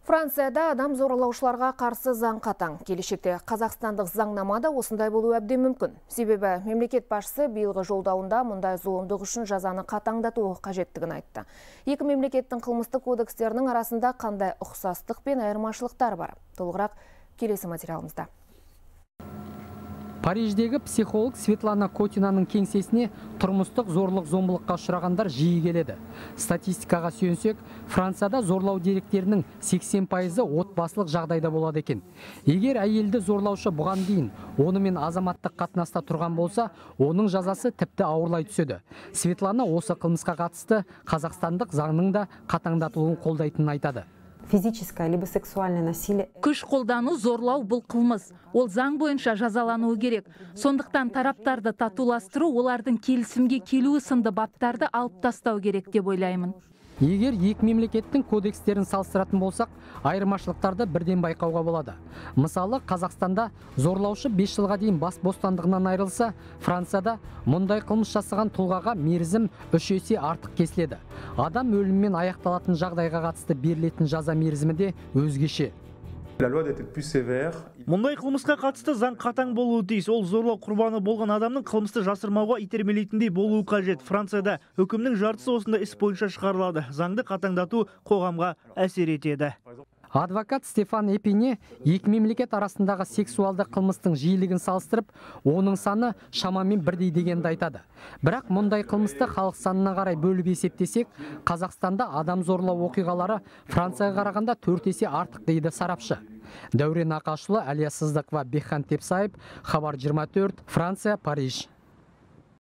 Францияда адам зорлаушыларға қарсы заң қатаң. Келешекте қазақстандық заңнамада осындай болу әбден мүмкін. Себебі мемлекет басшысы биылғы жолдауында мұндай зұлымдық үшін жазаны қатаңдату қажеттігін айтты. Екі мемлекеттің қылмыстық кодекстерінің арасында қандай ұқсастық пен айырмашылықтар бар? Толығырақ келесі материалымызда. Париждегі психолог Светлана Котинаның кеңсесіне тұрмыстық зорлық-зомбылыққа ұшырағандар жиі келеді. Статистикаға сүйенсек, Францияда зорлау деректерінің 80%-ы отбасылық жағдайда болады екен. Егер әйелді зорлаушы бұған дейін онымен азаматтық қатынаста тұрған болса, оның жазасы тіпті ауырлай түседі. Светлана осы қылмысқа қатысты қазақстандық заңның да қатаңдатылуын қолдайтынын айтады. Физическое либо сексуальное насилие. Күш қолдану зорлау бұл қылмыс. Ол заң бойынша жазалануы керек. Сондықтан тараптарды татуластыру, олардың келісімге келуі сынды баптарды алып тастау керек деп ойлаймын. Егер екі мемлекеттің кодекстерін салыстыратын болсақ, айырмашылықтарды бірден байқауға болады. Мысалы, Қазақстанда зорлаушы 5 жылға дейін бас бостандығынан айырылса, Францияда мұндай қылмыс жасаған тұлғаға мерзім 3 есе артық кесіледі. Адам өліммен аяқталатын жағдайға қатысты берілетін жаза мерзімі де өзгеше. Мұндай қылмысқа қатысты заң қатаң болуы тиіс. Ол зорлау құрбаны болған адамның қылмысты жасырмауға итермелейтіндей болуы қажет. Францияда үкімнің жартысы осында іс бойынша шығарылады. Заңды қатаңдату қоғамға әсер етеді. Адвокат Стефан Эпине екі мемлекет арасындағы сексуалды қылмыстың жиілігін салыстырып, оның саны шамамен бірдей дегенді айтады. Бірақ мұндай қылмысты халық санына қарай бөліп есептесек, Қазақстанда адам зорлау оқиғалары Францияға қарағанда 4 есе артық дейді сарапшы. Дәурен Ақашұлы, Әлия Сыздықова, Бекхан Тепсаев, Хабар 24, Франция, Париж.